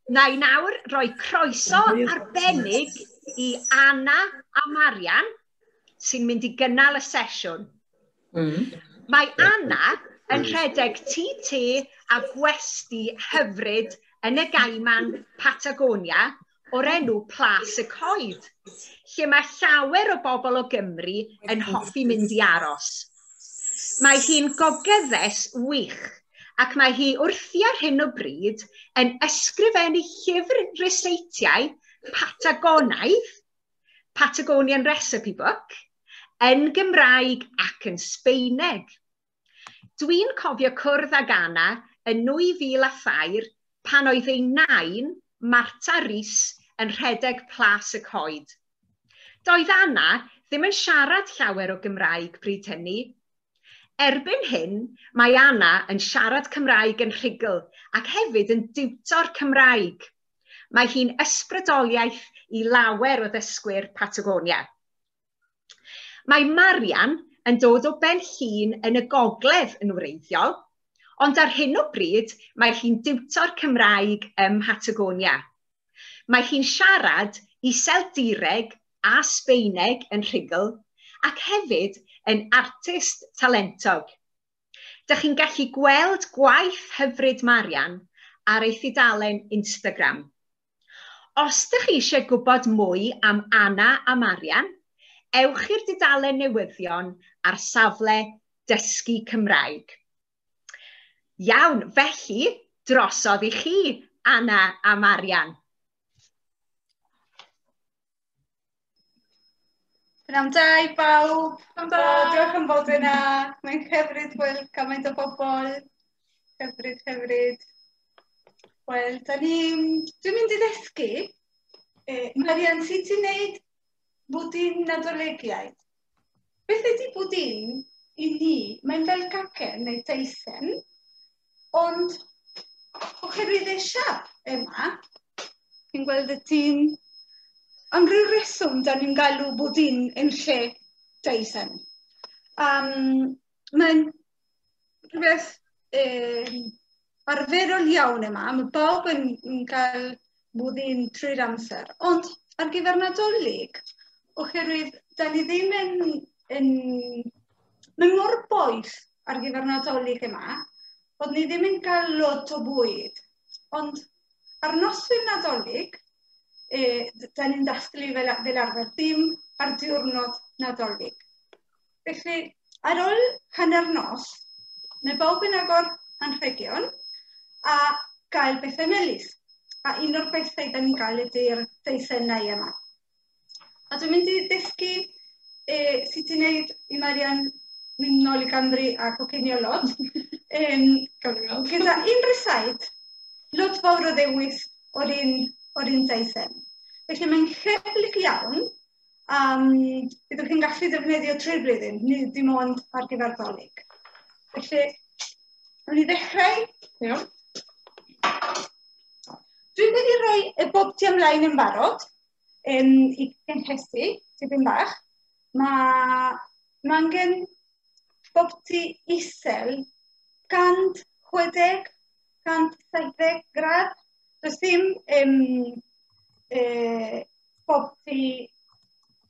Na i nawr roi croeso arbennig i Anna a Marian sy'n mynd i gynnal y sesiwn. Mae Anna yn rhedeg tŷ te a gwesty hyfryd yn y Gaiman, Patagonia, o'r enw Plas y Coed, lle mae llawer o bobl o Gymru yn hoffi mynd i aros. Mae hi'n gogyddes wych, ac mae hi wrthi ar hyn o bryd yn ysgrifennu llyfr ryseitiau Patagonaidd, Patagonian Recipe Book, yn Gymraeg ac yn Sbeineg. Dwi'n cofio cwrdd ag Anna yn 2003 pan oedd ei nain, Marta Rees, yn rhedeg Plas y Coed. Doedd Anna ddim yn siarad llawer o Gymraeg bryd hynny. Erbyn hyn, mae Anna yn siarad Cymraeg yn rhugl ac hefyd yn diwtor Cymraeg. Mae hi'n ysbrydoliaeth i lawer o ddysgwyr Patagonia. Mae Marian yn dod o Ben Llŷn yn y gogledd yn wreiddiol, ond ar hyn o bryd mae hi'n diwtor Cymraeg ym Mhatagonia. Mae hi'n siarad Iseldireg a Sbeineg yn rhugl ac hefyd yn artist talentog. Dych chi'n gallu gweld gwaith hyfryd Marian ar ei thudalen Instagram. Os dych chi eisiau gwybod mwy am Anna a Marian, ewch i'r dudalen newyddion ar safle Dysgu Cymraeg. Iawn, felly, drosodd i chi, Anna a Marian. Pnawn da i bawb. Pnawn da. Diolch am fod yna. Mae'n hyfryd gweld cymaint o bobl. Hyfryd, hyfryd. Wel, da ni... Dwi'n mynd i ddysgu. Marian, sut ti'n neud bwdin Nadoligaidd? Beth ydy bwdin i ni? Mae'n fel cacen neu teisen, ond oherwydd ei siap yma, chi'n gweld y tîn, am ryw reswm, da ni'n galw bwdin yn lle teisen. Mae'n rhywbeth arferol iawn yma. Mae bawb yn cael bwdin trwy'r amser. Ond ar gyfer Nadolig, oherwydd da ni ddim yn... Mae mor boeth ar gyfer Nadolig yma, bod ni ddim yn cael lot o bwyd. Ond ar noswyl Nadolig, da ni'n dathlu fel arfer, dim ar diwrnod Nadolig. Felly, ar ôl hanner nos, mae bawb yn agor anrhegion a gael bethau melys. A un o'r bethau da ni'n gael ydy'r deisennau yma. A dwi'n mynd i ddysgu sut i wneud i Marian mynd nôl i Gymru a coginio lot. Gyda un rysait, lot fawr o ddewis o'r un deisen. Felly mae'n hyblyg iawn, byddwch chi'n gallu defnyddio trwy'r blwyddyn, nid dim ond ar gyfer Dolig. Felly, wnawn ni ddechrau. Iawn. Dwi wedi rhoi y bobty ymlaen yn barod i gynhesu tipyn bach. Mae angen bobty isel 160, 170 gradd. Does dim bobty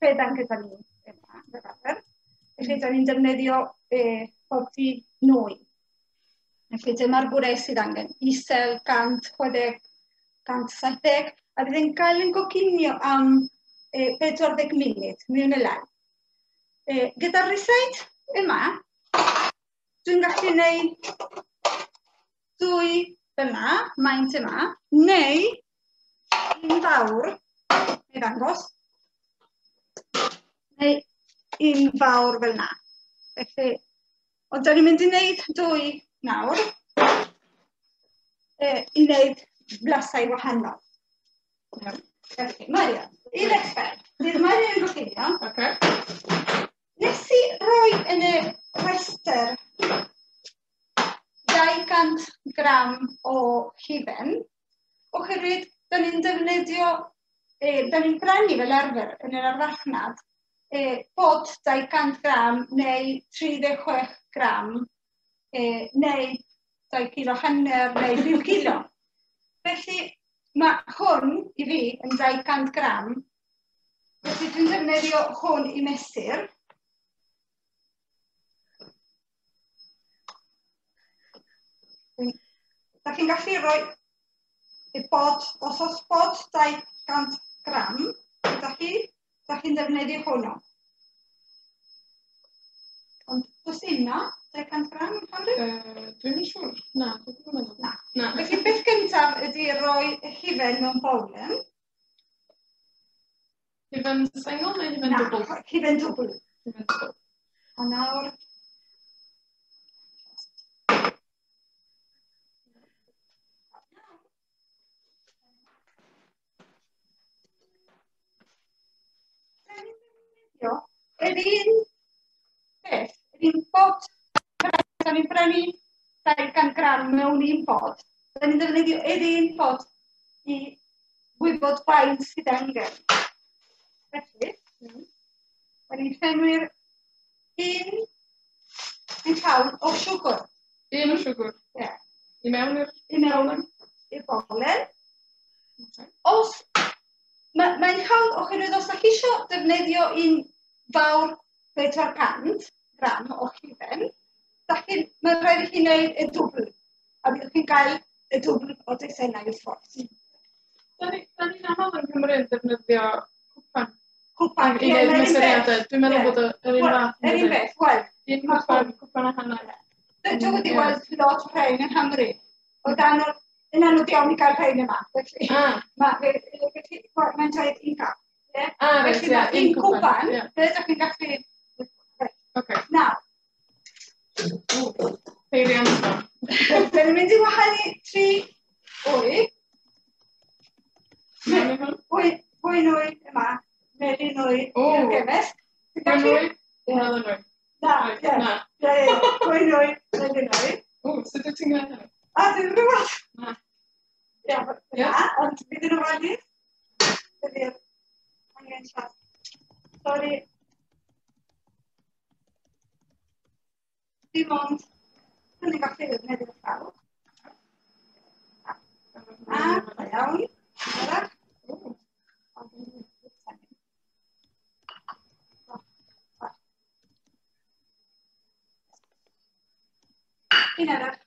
fedan gyda ni yma, fel arfer. Felly, da ni'n defnyddio bobty nwy. Felly, dyma'r gwres sydd angen. Isel 160, 170, a bydd yn cael yn goginio am 40 munud, mewn y lai. Gyda'r rysait yma, dwi'n gallu gwneud dwy yma, maint yma, neu un fawr, neu ddangos, neu un fawr fel yna. Felly, ond da ni'n mynd i wneud dwy nawr, i wneud blasau wahanol. Felly, Marian, i ddechrau, bydd Marian yn goginio. Nes i roi yn y rhestr 200 gram o hufen, oherwydd da ni'n defnyddio, da ni'n brynu fel arfer yn yr arfarchnad, bod 200 gram neu 36 gram, neu 2 kilo hanner neu 5 kilo. Felly, mae hwn i fi yn 200 gram. Felly dwi'n defnyddio hwn i mesur. Da chi'n gallu rhoi y bod, os oes bod 200 gram gyda chi, da chi'n defnyddio hwnnw. Ond does dim na, 200 gram yn Nghymru? Dwi'm yn siŵr. Na, dwi'n meddwl. Na. Na. Felly beth gyntaf ydy rhoi hufen mewn bowlen. Hufen sengl neu hufen dwbl? Na, hufen dwbl. Hufen dwbl. A nawr... Yr un peth, yr un bod, da ni'n brynu 200 gram mewn un bod, da ni'n defnyddio yr un bod i wybod faint sydd angen. Felly, da ni'n llenwi'r un llawn o siwgr. Un o siwgr? Ie. I mewn i'r... I mewn i'r bowlen. Os mae'n hawdd oherwydd os ydych chi eisiau defnyddio un fawr 400 gram o hufen, mae'n rhaid i chi wneud y dwbl, a byddwch chi'n cael y dwbl o deisennau wrth gwrs. Da ni'n aml yn Cymru yn defnyddio cwpan. Cwpan, i wneud mesuriadau. Dwi'n meddwl bod yr un fath. Yr un beth, wel. Un cwpan, cwpan a hanner. Dwi wedi gweld lot o rhain yng Nghymru. O dan yn anodd iawn i gael rhain yma, felly mae'n dweud un cap. Felly mae un cwpan, fe ydych chi'n gallu... Nawr. Peiriant. Da ni'n mynd i wahanu 3 wy. Wy nwy yma, melyn nwy i'r gemesg. Wy nwy, melyn nwy. Na, ie, wy nwy, melyn nwy. O, sut wyt ti'n gwneud hynny? A, dwi'n gwybod. Na. Ia, ond bydd yn ofalus. Dydy'r angen siarad. Sori. Dim ond, dwi'n ni'n gallu ddefnyddio llaw. A, da iawn. Arall. Un arall.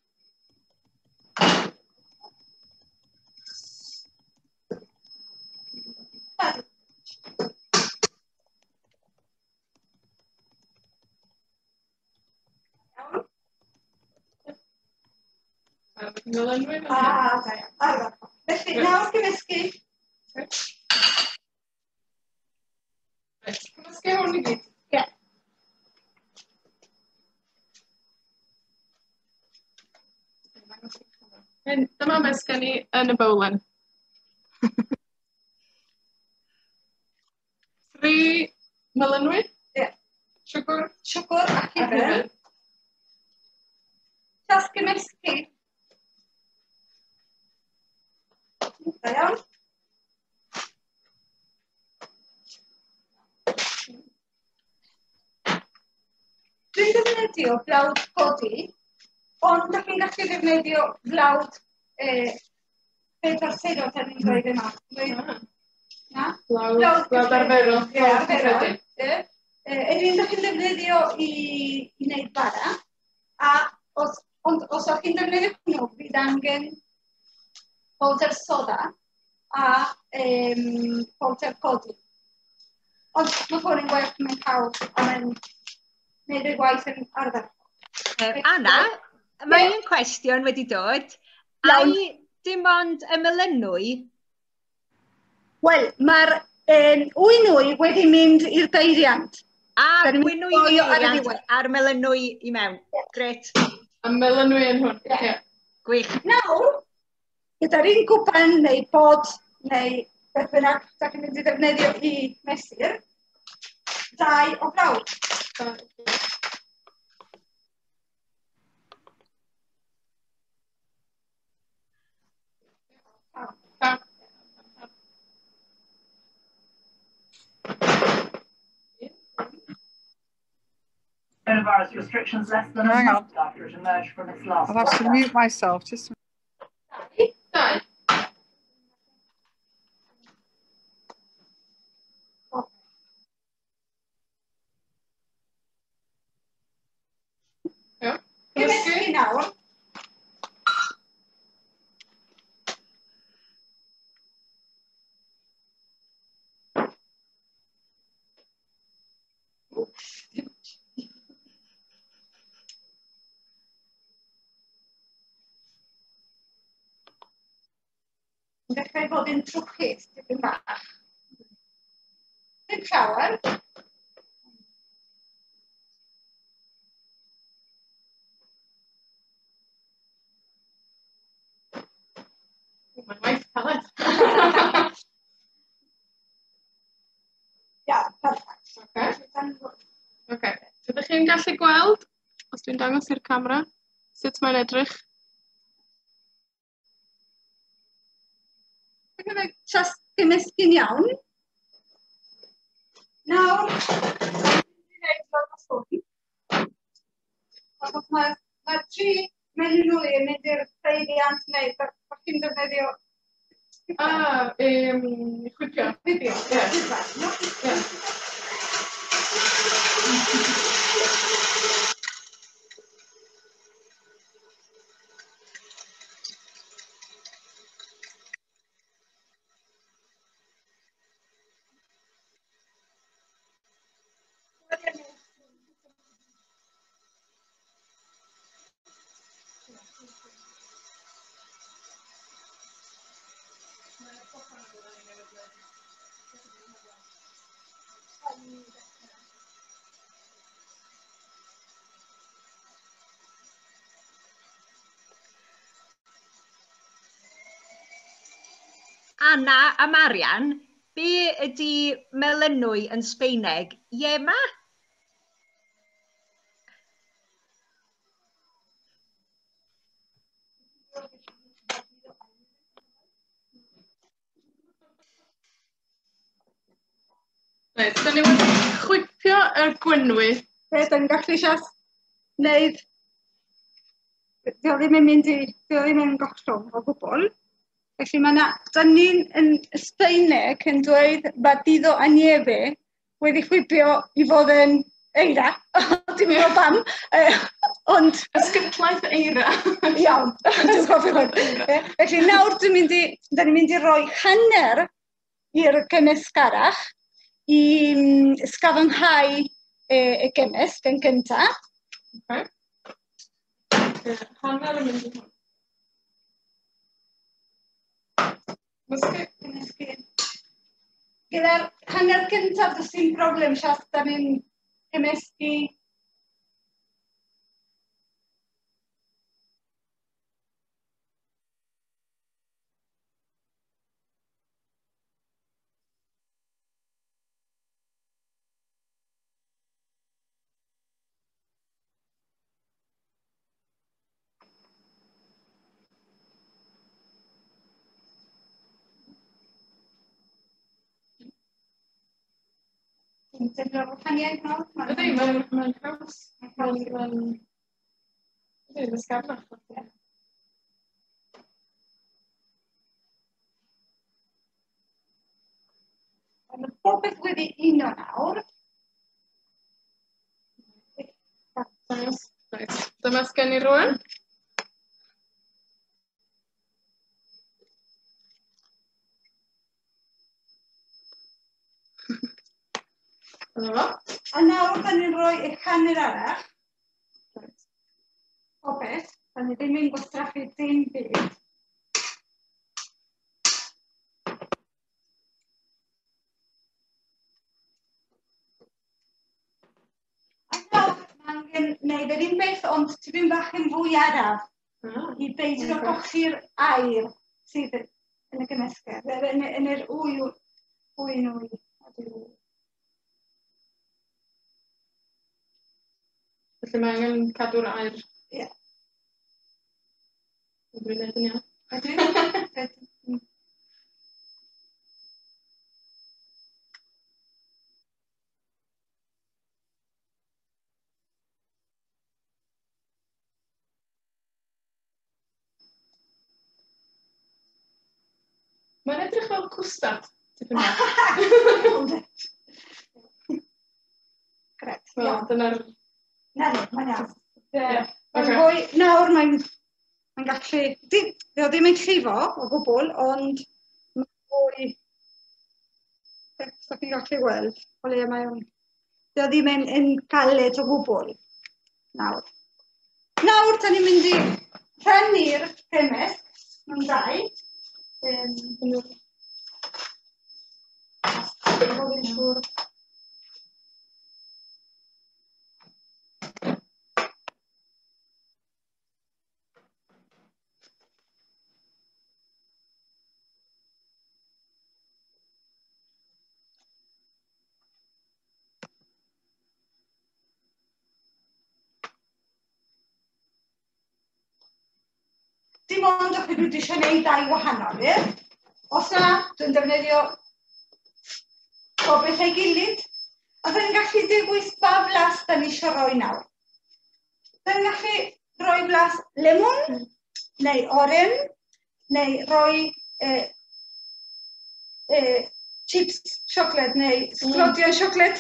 A, da iawn. Felly, nawr gymysgu. Reit, cymysgu hwn i gyd? Ie. Dyma beth sgen i yn y bowlen. 3 melynwy? Ie. Siwgr? Siwgr a hufen. Just gymysgu. Da iawn. Dwi'n defnyddio blawd codi, ond dych chi'n gallu defnyddio blawd 4 sero dan ni'n dweud yma. Na? Blawd arferol. Ie, arferol. Yr un dych chi'n defnyddio i wneud bara, a ond os o'ch chi'n defnyddio hwnnw, fydd angen powder soda a powder codi. Ond mae hwn yn gwerth, mae'n hawdd a mae'n gwneud y gwaith yn arferol. Anna, mae un cwestiwn wedi dod. Ai dim ond y melynwy? Wel, mae'r wy nwy wedi mynd i'r beiriant. A, wy nwy i'r beiriant a'r melynwy i mewn. Gret. A melynwy yn hwn, ie. Gwych. Nawr, gyda'r un cwpan neu bod neu beth bynnag da chi'n mynd i ddefnyddio i mesur, 2 o blawd. Coronavirus restrictions less than a month after it emerged from its last I'll have to mute myself. Just 2. dechrau bod yn trwchus, tipyn bach. Dim llawer. Mae'n waith caled. Iawn, perffaith. Oce. Oce. Ydych chi'n gallu gweld, os dwi'n dangos i'r camera, sut mae'n edrych? Ac fe just gymysgu'n iawn. Nawr, dwi'n gwneud lot o sŵn. Achos mae'r tri melynwy yn mynd i'r peiriant neu da chi'n defnyddio... Chwipio. Chwipio, ie. Ie. Anna a Marian, be ydy melynwy yn Sbeineg? Yema? Reit, da ni wedi chwipio y gwenwy. Be, da ni'n gallu sias wneud... Dio ddim yn mynd i... Dio ddim yn gollwng o gwbl. Felly mae yna... Da ni'n yn Sbaeneg yn dweud batido a nieve wedi chwipio i fod yn eira. Dwi'n meddwl pam. Ond... Ysgytlaeth eira. Iawn, dwi'n cofio hwn. Felly nawr dwi'n mynd i... Da ni'n mynd i roi hanner i'r gymysg arall i ysgafnhau y gymysg yn gyntaf. Okay. Hanner yn mynd i hwn. Gymysgu. Gyda'r hanner cyntaf, does dim problem, sias, da ni'n gymysgu. Ti'n teimlo'r wahaniaeth nawr? Ydy, mae'n haws. Mae'n... Ydy, mae'n sgarlach. Mae popeth wedi uno nawr. Reit, dyma sgen i rŵan. Dyna fo. A nawr, da ni'n rhoi y hanner arall. Popeth. Da ni ddim yn gwastraffu dim byd. A nawr, mae angen gwneud yr un beth, ond tipyn bach yn fwy araf i beidio golli'r aer sydd yn y gymysgedd, yn yr wy nwy. Felly mae angen cadw'r aer. Ie. Ydw i'n gwneud yn iawn? Ydw. Mae'n edrych fel cwstard, tipyn bach. Gret. Wel, dyna'r... Na, mae'n iawn. Ie. Mae'n fwy, nawr mae'n gallu... Dio ddim yn llifo o gwbl, ond mae'n fwy... Os chi'n gallu gweld, o leia mae o'n... Dio ddim yn galed o gwbl. Nawr. Nawr, da ni'n mynd i rhannu'r gymysg mewn dau. Bod yn siŵr. Dim ond os dwi eisiau gwneud dau wahanol, ie? Os na, dwi'n defnyddio pob beth ei gilydd. A dyn ni'n gallu dewis ba flas da ni eisiau rhoi nawr. Da ni'n gallu rhoi blas lemon, neu oren, neu rhoi chips siocled, neu sglodion siocled,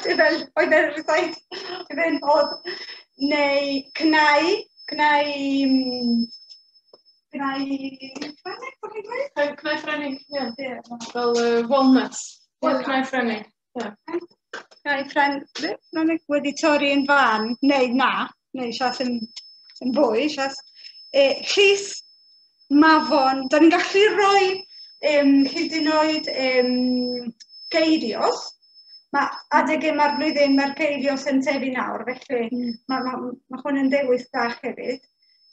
fel oedd e'r rhysait, oedd oedd, neu cnau, cnau, Cnau Ffrenig, ie. Fel walnuts. Cnau Ffrenig, ie. Cnau Ffrenig wedi torri yn fan, neu na, neu sias yn fwy, sias. Llys, mafon, da ni'n gallu rhoi hyd yn oed geirios. Mae adeg yma'r blwyddyn mae'r geirios yn tyfu nawr, felly mae hwn yn dewis da hefyd.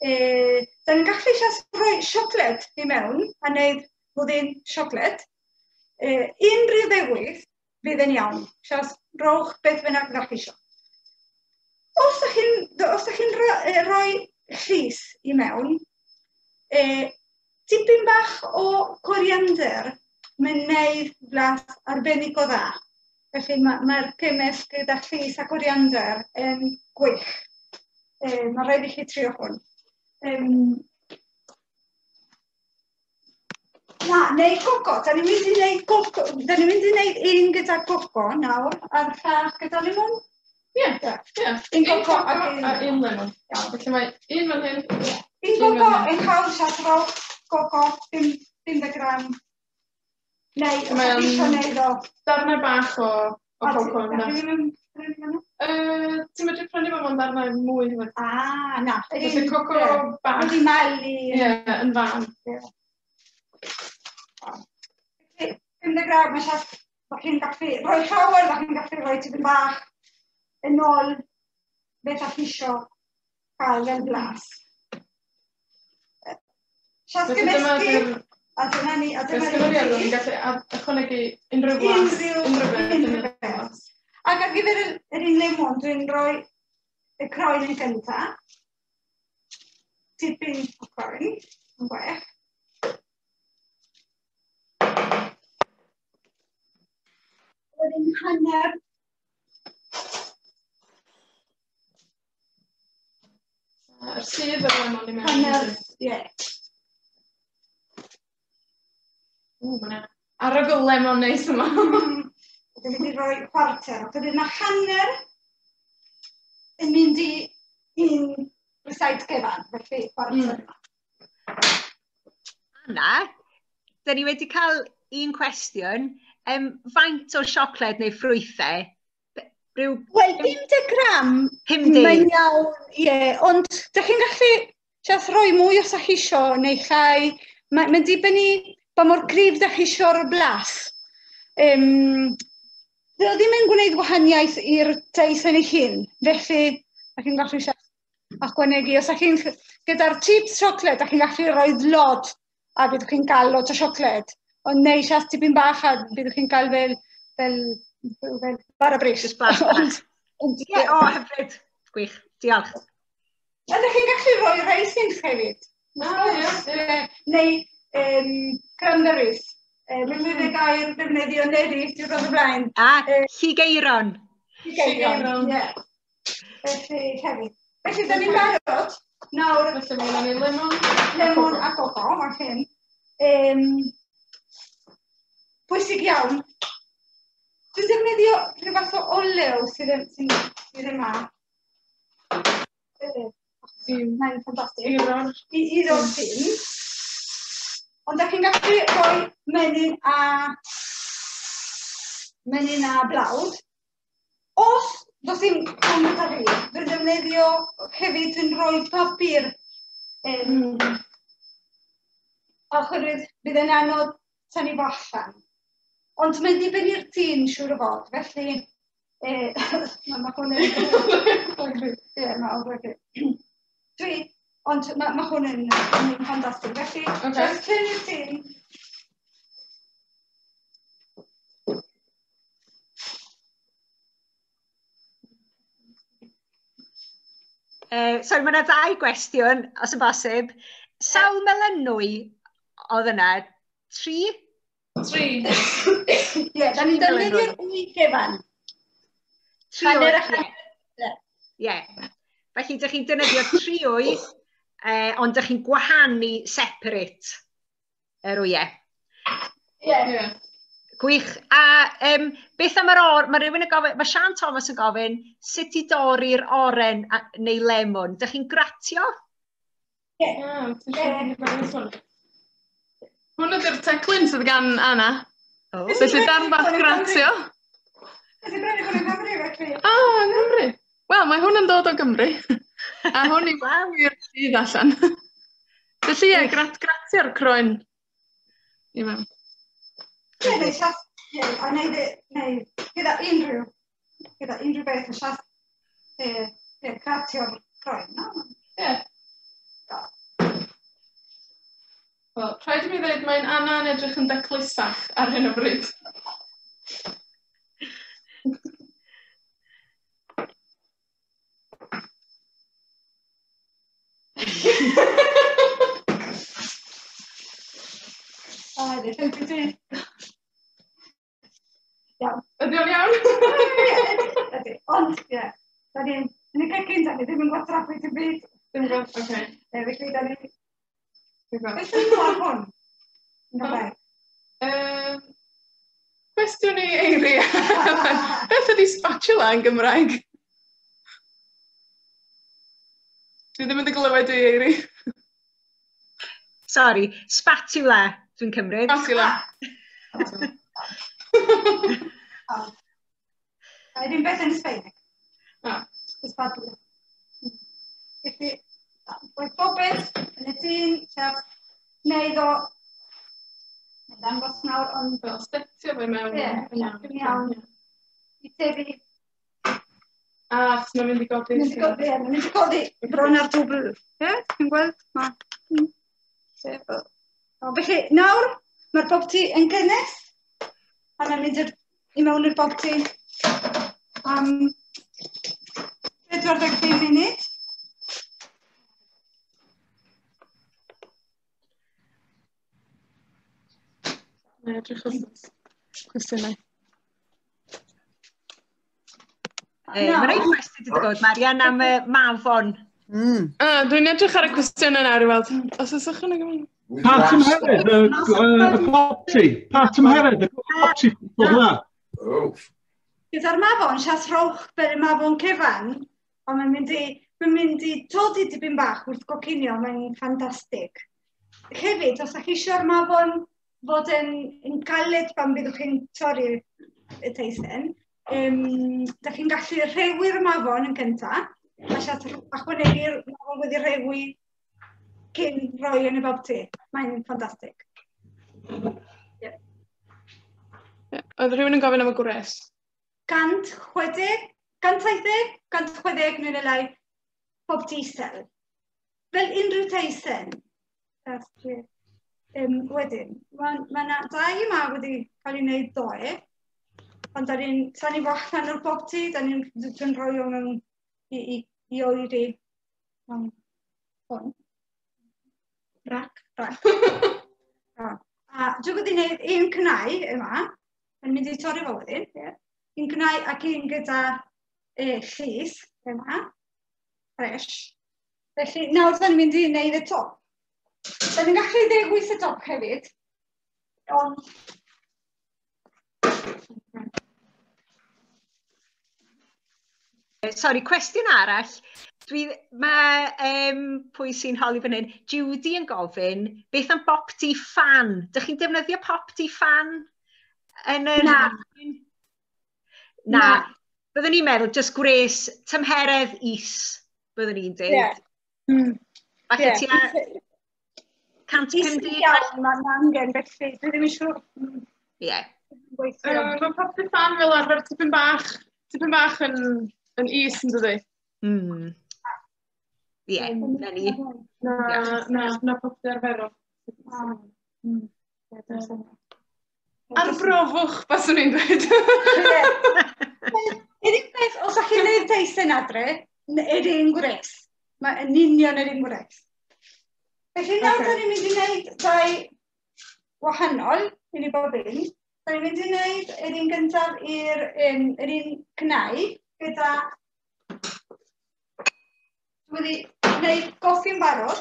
Da ni'n gallu sias rhoi siocled i mewn a wneud bwdin siocled. Unrhyw ddewis fydd yn iawn. Sias rowch beth bynnag ydych chi isio. Os ydych chi'n rhoi llys i mewn, tipyn bach o coriander, mae'n wneud blas arbennig o dda. Felly mae'r cymysg gyda llys a coriander yn gwych. Mae rhaid i chi trio hwn. Na, neu coco. Da ni'n mynd i wneud coco. Da ni'n mynd i wneud un gyda coco nawr, a'r llall gyda lemon. Ie, ie. Un coco ac un lemon. Felly mae un fan hyn. Un coco yn cael sias rowch coco, 50 gram. Neu, os ydych chi eisiau wneud o. Darnau bach o coco. Ti'n medru prynu fo mewn darnau mwy hefyd. Ah, na. Felly coco bach. Wedi malu. Ie, yn fan. Felly, 50 gram, mae sias, da chi'n gallu rhoi llawer, da chi'n gallu rhoi tipyn bach yn ôl beth ydych chi isio cael fel blas. Sias gymysgu, a dyna ni, a dyna ni. Ni'n gallu ychwanegu unrhyw blas. Unrhyw beth. Ac ar gyfer yr un lemon, dwi'n rhoi y croen yn gyntaf. Tipyn o croen, yn well. Wedyn hanner. A'r sudd o'r lemon i mewn. Hanner, ie. Ww, mae 'na arogl lemon neis yma. Dwi'n mynd i roi chwarter. Wedyn mae hanner yn mynd i un rysait gyfan, felly chwarter yma. Anna, dyn ni wedi cael un cwestiwn. Faint o siocled neu ffrwythau? Rhyw... Wel, 50 gram. 50. Mae'n iawn, ie. Ond dych chi'n gallu jyst rhoi mwy os ydych chi isio neu llai. Mae'n dibynnu pa mor gryf dych chi isio'r blas. Dyw o ddim yn gwneud gwahaniaeth i'r deis yn ei hun, felly dych chi'n gallu ychwanegu. Os ydych chi'n gyda'r chips siocled, dych chi'n gallu rhoi lot a byddwch chi'n cael lot o siocled. Ond neu sias tipyn bach a byddwch chi'n cael fel bara brith. Jyst blas bach. Ie, o, hyfryd. Gwych, diolch. A ydych chi'n gallu rhoi raisins hefyd. Ie. Neu cranberries. Mae'n mynd y gair defnyddio neri diwrnod o blaen. A, lligeiron. Lligeiron, ie. Felly, hefyd. Felly, da ni'n barod. Nawr... Felly, mae gennym ni lemon. Lemon a coco, mae hyn. Pwysig iawn. Dwi'n defnyddio rhyw fath o olew sydd yma. Mae'n ffantastig. I roi'r ffin. Ond dach chi'n gallu rhoi menyn a blawd. Os does dim hwn gyda fi, dwi'n defnyddio hefyd, dwi'n rhoi papur Oherwydd bydd yn anodd tynnu fo allan. Ond mae'n dibynnu'r tîn siŵr o fod, felly mae hwn yn... Ie, mae Dwi, ond mae hwn yn ffantastig. Felly, just tynnu'r tîn. Sorry, mae yna ddau gwestiwn, os yn bosib. Sawl melynwy oedd yna? 3? 3. Ie, da ni'n defnyddio'r wy gyfan. 3 wy. Ie. Felly, dych chi'n defnyddio 3 wy, ond dych chi'n gwahanu separate yr wyau. Ie. Gwych. A beth am yr or... Mae rhywun yn gofyn... Mae Sian Thomas yn gofyn sut i dorri'r oren neu lemon. Dych chi'n gratio? Ie. Hwn ydy'r teclyn sydd gan Anna. Oh. Felly darn bach gratio. Nes i brynu hwn yng Nghymru, felly. Ah, yng Nghymru. Wel, mae hwn yn dod o Gymru. A hwn i wir sydd allan. Felly ie, gratio'r croen i mewn. Ie, neu sias, ie, a neu gyda unrhyw beth yn sias, ie, gratio'r croen, no? Ie. Wel, rhaid i mi ddweud, mae'n Anna yn edrych yn daclusach ar hyn o bryd. O, ydy. Iawn. Ydy o'n iawn? Ydy, ond, ie. Da ni'n, yn y cegin, da ni ddim yn gwastraffu dim byd. Ddim yn gwastraffu, oce. Felly, da ni... Beth yw'n mor hwn? Cwestiwn i Eiri. Beth ydy spatula yn Gymraeg? Dwi ddim yn dy glywed i, Eiri. Sorry, spatula, dwi'n cymryd. Spatula. Yr un beth yn Sbaeneg. Spatula. Felly, roedd bob beth yn y tîn, siaf, wneud o, mae'n dangos nawr, ond... Fel stetio fe mewn. Ie, yn iawn. I tefu. A, chos mae'n mynd i godi. Mae'n mynd i godi, mae'n mynd i godi bron ar dwbl. Ie, ti'n gweld? Ma. Felly, nawr, mae'r bobty yn gynnes, a mae'n mynd i mewn i'r bobty am 45 munud. Mae'n edrych wrth cwestiynau. Mae rhaid cwestiwn wedi dod, Marian, am y mafon. Dwi'n edrych ar y cwestiynau nawr i weld. Os oes ychwaneg yma? Pa tymheredd y popty? Pa tymheredd y popty hwnna? Gyda'r mafon, sias rhowch fel y mafon cyfan, ond mae'n mynd i todi dipyn bach wrth goginio, mae'n ffantastig. Hefyd, os ydych chi eisiau'r mafon fod yn galed pan byddwch chi'n torri y teisen, dach chi'n gallu rhewi'r mafon yn gyntaf, a sias ychwanegu'r mafon wedi rhewi cyn rhoi yn y bobty. Mae'n ffantastig. Yeah. Oedd rhywun yn gofyn am y gwres? 160, 170, 160 neu lai, bobty isel. Fel unrhyw teisen. Wedyn, mae yna dau yma wedi cael ei wneud ddoe, ond da ni'n tynnu fo allan o'r bobty, da ni'n rhoi o mewn i oeri mewn hwn. Rac. A dwi'n wedi gwneud un cnau yma, yn mynd i torri fo wedyn, yeah. Un cnau ac un gyda llys yma, fresh. Felly nawr da ni'n mynd i wneud y top. Da ni'n gallu ddewis y top hefyd, ond... Sorry, cwestiwn arall. Mae pwy sy'n holi fan hyn, Judy yn gofyn, beth am bopty fan? Dych chi'n defnyddio popty fan? Yn yr... Na. Na. Byddwn ni'n meddwl, just gwres, tymheredd is, byddwn ni'n dweud. Yeah. Falle tua 150? Iawn, mae'n angen felly. Dwi ddim yn siŵr. Ie. Mae popty fan fel arfer tipyn bach yn is, yn dydi? Ie, na ni. Na popty arferol. Arbrofwch, baswn i'n dweud. Yr un peth, os ydych chi'n gwneud teisen adre, yr un gwres. Mae yn union yr un gwres. Felly nawr da ni'n mynd i wneud dau wahanol i ni bob un. Da ni'n mynd i wneud yr un gyntaf i'r yr un cnau gyda... Dwi wedi gwneud goffi'n barod.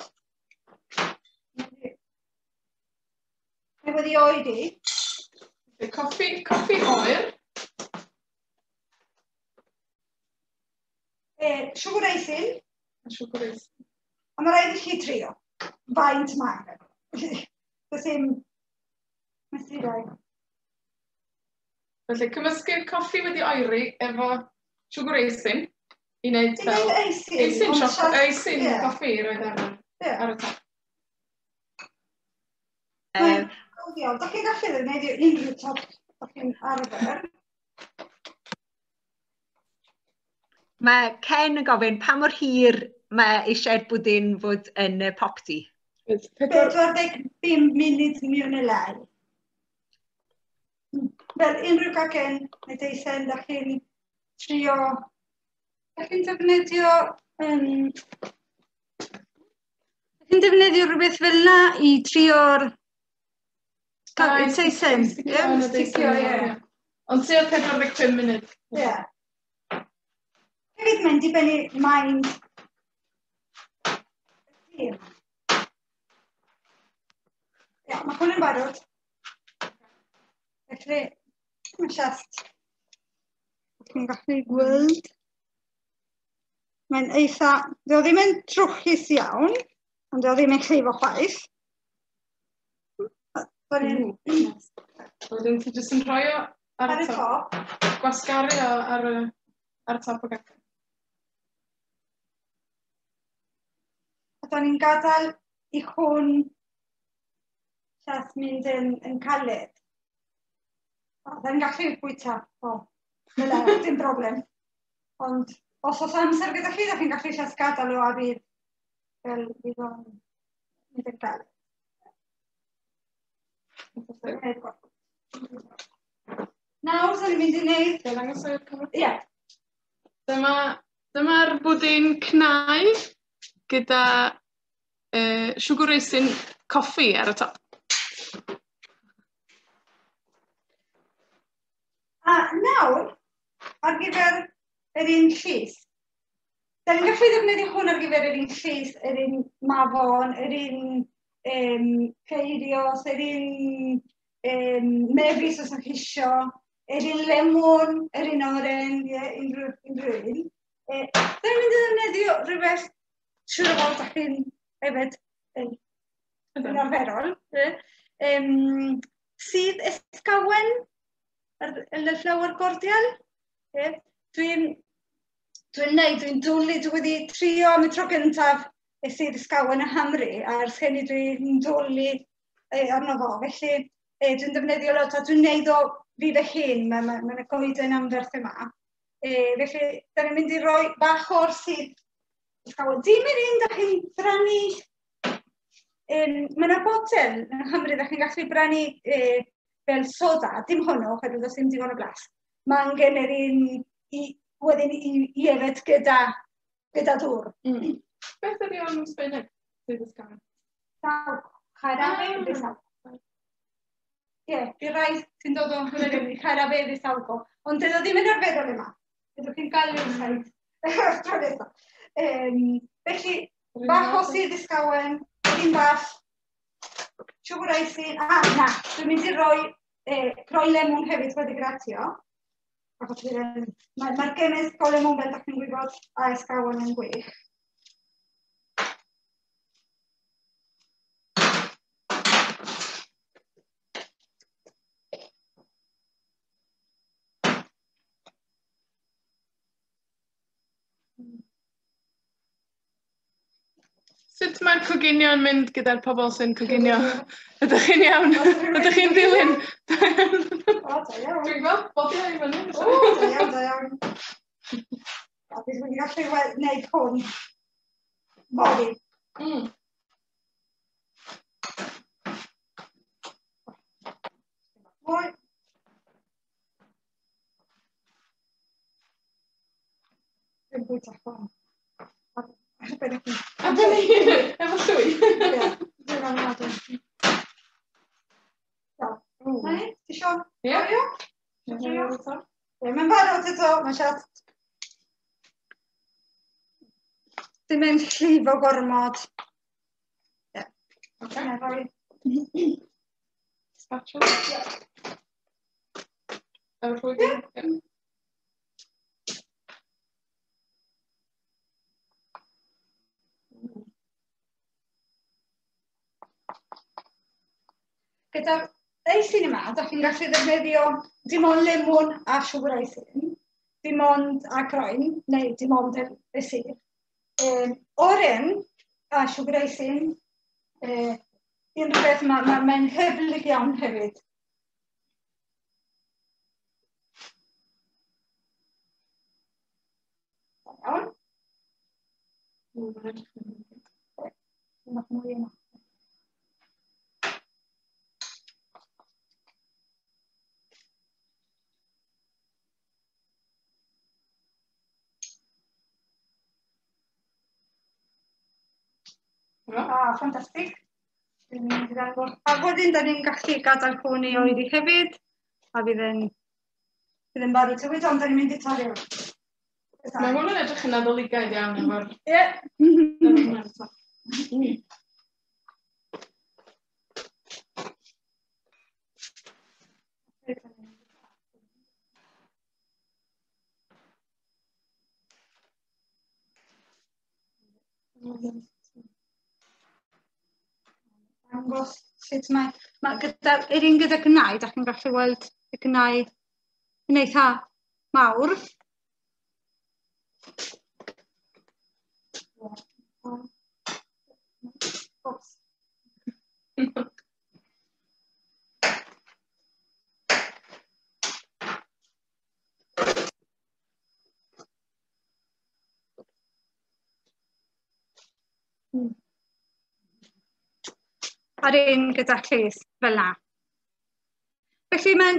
Dwi wedi oeri. Coffi oer. Siwgr eisin. Siwgr eisin. A mae rhaid i chi trio. Faint mae angen. Does dim mesurau. Felly, cymysgu'r coffi wedi oeri efo siwgr eisin i wneud fel... Eisin, eisin coffi i roed ar y top. Mae'n iawn. Dach chi'n gallu ddefnyddio unrhyw top dach chi'n arfer. Mae Ken yn gofyn pa mor hir mae eisiau'r bwdin fod yn y popty? 45 munud mwy neu lai. Fel unrhyw gacen neu deisen, dach chi'n trio... Dach chi'n defnyddio... Dach chi'n defnyddio rhywbeth fel na i trio'r... Teisen. Sticio, ie. Ond tua 45 munud. Ie. Hefyd mae'n dibynnu maint Ie, mae hwn yn barod. Felly, mae'n just. Chi'n gallu gweld. Mae'n eitha... Dio ddim yn trwchus iawn, ond dio ddim yn llifo chwaith. Wedyn ti jyst yn rhoi o ar y top. Gwasgaru o ar y top o gacen. A da ni'n gadael i hwn just mynd yn caled. Da ni'n gallu bwyta o, dim broblem. Ond os oes amser gyda chi, da chi'n gallu just gadael o a fydd fel fydd o'n mynd yn caled. Nawr, da ni'n mynd i wneud... Dwi'n dangos o'r cyfrif? Ie. Dyma'r bwdin cnau gyda siwgr eisin coffi ar y top. A nawr, ar gyfer yr un llys. Da ni'n gallu ddefnyddio hwn ar gyfer yr un llys, yr un mafon, yr un ceirios, yr un mefus os ydych chi isio, yr un lemon, yr un oren, ie, unrhyw un. Da ni'n mynd i ddefnyddio rhywbeth siŵr o fod da chi'n hefyd yn arferol. Sydd ysgawen, y flower cordial. Dwi'n dwlu, dwi wedi trio am y tro gyntaf y sydd ysgawen yng Nghymru, a ers hynny dwi'n dwlu arno fo. Felly dwi'n defnyddio lot a dwi'n neud o fi fy hun, mae'n goeden anferth yma. Felly, da ni'n mynd i roi bach o'r sydd ysgawen. Dim yr un da chi'n brynu, mae yna botel yng Nghymru da chi'n gallu brynu fel soda, dim hwnnw, oherwydd does dim digon o blas. Mae angen yr un wedyn i yfed gyda dŵr. Beth ydy o'n Sbaeneg? Sydd ysgawen? Jarabe de saúco. Ie, di rai sy'n dod o'n Gymru, jarabe de saúco. Ond dydy o ddim yn arferol yma. Byddwch chi'n cael rhyw saith tro nesaf. Felly, bach o sydd ysgawen, un bach, siwgr eisin, a na, dwi'n mynd i roi croi lemwn hefyd wedi gratio. Achos mae'r gymysg o lemwn fel dach chi'n gwybod a ysgawen yn gwych. Sut mae'r coginio yn mynd gyda'r pobl sy'n coginio? Ydych chi'n iawn? Ydych chi'n dilyn? O, da iawn. Dwi'n gweld bodi i fyny. O, da iawn, da iawn. A bydd wedi gallu wneud hwn. Fory. Mwy. Dwi'n bwyta hwn. Ar ben eich hun. A ben ei hun, efo llwy. Ie, dwi'n ofnadwy. Na ni, ti isio? Ie. Trio? Ie, mae'n barod eto, mae'n siarad. Dim yn llifo gormod. Ie. Oce. Na rhoi. Spatula. Efo llwy? Ie. Gyda'r eisin yma, da chi'n gallu ddefnyddio dim ond lemon a siwgr eisin, dim ond a croen, neu dim ond y sudd. Oren a siwgr eisin, unrhyw beth, mae'n hyblyg iawn hefyd. Iawn. Mwy yma. Ah, ffantastig. Dwi'n mynd i ddangos. A wedyn, da ni'n gallu gadael hwn i oeri hefyd, a fydd yn barod hefyd, ond da ni'n mynd i torri hwn. Mae hwn yn edrych yn nadoligaidd iawn efo'r... Ie. Dangos sut mae gyda, yr un gyda gnau, da chi'n gallu weld y gnau yn eitha mawr. Oops. A'r un gyda llys fel na. Felly mae'n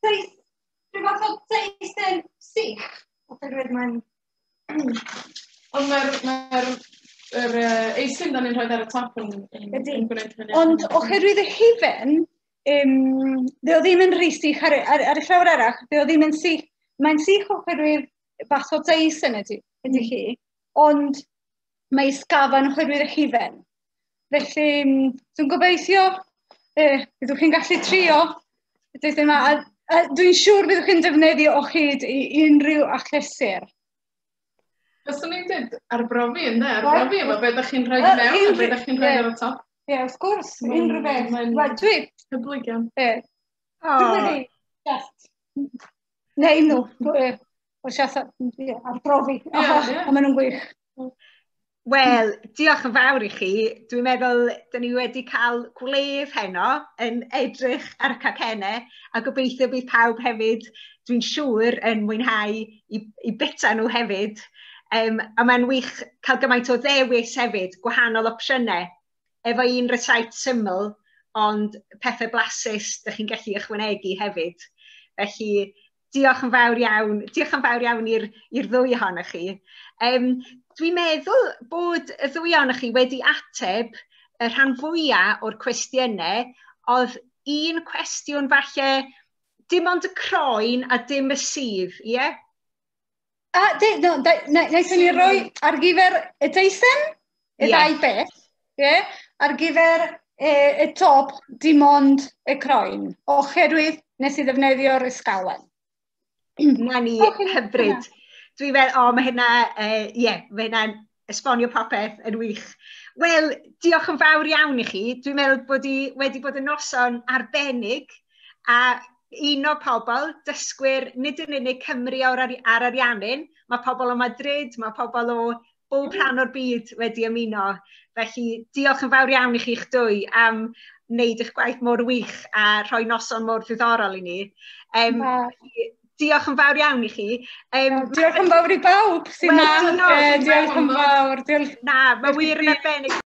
rhyw fath o deisen sych, oherwydd mae'n... Ond mae'r eisin da ni'n rhoi ar y top yn gwneud hynny. Ond oherwydd y hufen, ddi o ddim yn rhy sych ar y llawr arall, ddi o ddim yn sych. Mae'n sych oherwydd fath o deisen ydy hi, ond mae sgafan oherwydd y hufen. Felly, dwi'n gobeithio byddwch chi'n gallu trio yma, a dwi'n siŵr byddwch chi'n defnyddio o hyd i unrhyw achlysur. Fyswn i'n dweud arbrofi, ynde? Arbrofi efo be ydych chi'n rhoi mewn a be ydych chi'n rhoi ar y top. Ie, wrth gwrs, unrhyw beth. Mae'n hyblyg iawn. Ie. Dwi'n wedi just neu nhw, o siarad, arbrofi, a maen nhw'n gwych. Wel, diolch yn fawr i chi. Dwi'n meddwl, dyn ni wedi cael gwledd heno yn edrych ar y cacennau, a gobeithio bydd pawb hefyd, dwi'n siŵr, yn mwynhau i bita nhw hefyd. A mae'n wych cael gymaint o ddewis hefyd, gwahanol opsiynau, efo un recipe syml, ond pethau blasus dych chi'n gallu ychwanegu hefyd. Felly, diolch yn fawr iawn, diolch yn fawr iawn i'r ddwy ohonoch chi. Dwi'n meddwl bod y ddwy ohonoch chi wedi ateb y rhan fwyaf o'r cwestiynau. Oedd un cwestiwn falle, dim ond y croen a dim y sudd, ie? A, wnaethon ni roi ar gyfer y deisen, y ddau beth, ie? Ar gyfer y top, dim ond y croen, oherwydd nes i ddefnyddio'r ysgawen. Na ni, hyfryd. Dwi'n meddwl, o, mae hynna, ie, mae hynna'n esbonio popeth yn wych. Wel, diolch yn fawr iawn i chi. Dwi'n meddwl bod i wedi bod yn noson arbennig a un o pobl, dysgwyr, nid yn unig Cymru ar Ariannin, mae pobl o Madrid, mae pobl o bob rhan o'r byd wedi ymuno. Felly diolch yn fawr iawn i chi'ch dwy am wneud eich gwaith mor wych a rhoi noson mor ddiddorol i ni. Diolch yn fawr iawn i chi. Diolch yn fawr i bawb sy'n na. Diolch yn fawr. Diolch. Na, mae wir yn arbennig.